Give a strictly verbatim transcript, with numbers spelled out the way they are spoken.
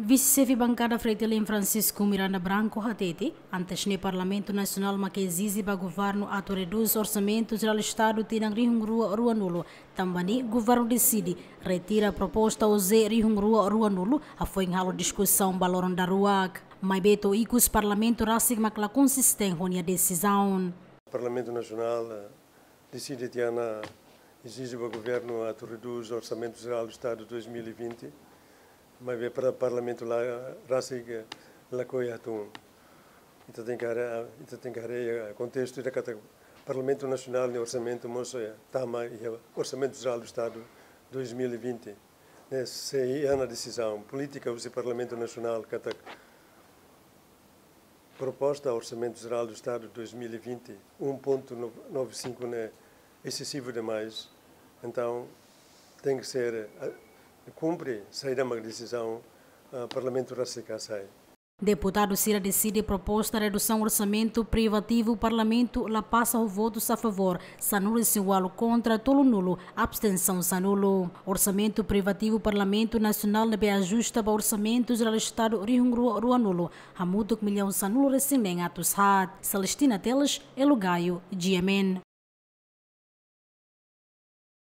Vise-Xefe Bankada Fretilin, Francisco Miranda Branco, hatete, antes ne'e Parlamentu Nasionál mak ezije ba Governu atu redús Orsamentu Jerál Estadu tinan rihun rua ruanulu, tanba ne'e Governu deside retira proposta O Z rihun rua ruanulu, hafoin halo diskusaun ba loron daruak. Maibé to'o ikus Parlamentu rasik mak la konsistente ho nia desizaun. Parlamentu Nasionál, eh, deside tiha ona ezije ba Governu atu redús Orsamentu Jerál do Estadu dois mil e vinte, maibé para Parlamentu la rasik, eh, lakohi hatún. Ita tenke haree, ita tenke haree, eh, kontestu ida katak Parlamentu Nasionál nia orsamentu mós, eh, tama iha Orsamentu Jerál do Estadu dois mil e vinte. Ne'e, se iha ona desizaun polítika husi Parlamentu Nasionál katak proposta Orsamentu Jerál do Estadu dois mil e vinte, um ponto nove cinco ne'e esesivu demais, entaun tenke ser, eh, kumpre saida mak desizaun, eh, Parlamentu rasik hasai. Deputadu sira deside proposta redusaun orsamentu privativu Parlamentu la pasa ho votus a favór sanulu-resin-ualu, kontra tolunulu, abstensaun sanulu. Orsamentu privativu Parlamentu Nasionál ne'ebé ajusta ba Orsamentu Jerál Estadu rihun rua ruanulu hamutuk millaun sanulu-resin-neen atus haat. Celestina Teles, Elo Gaio, G M N.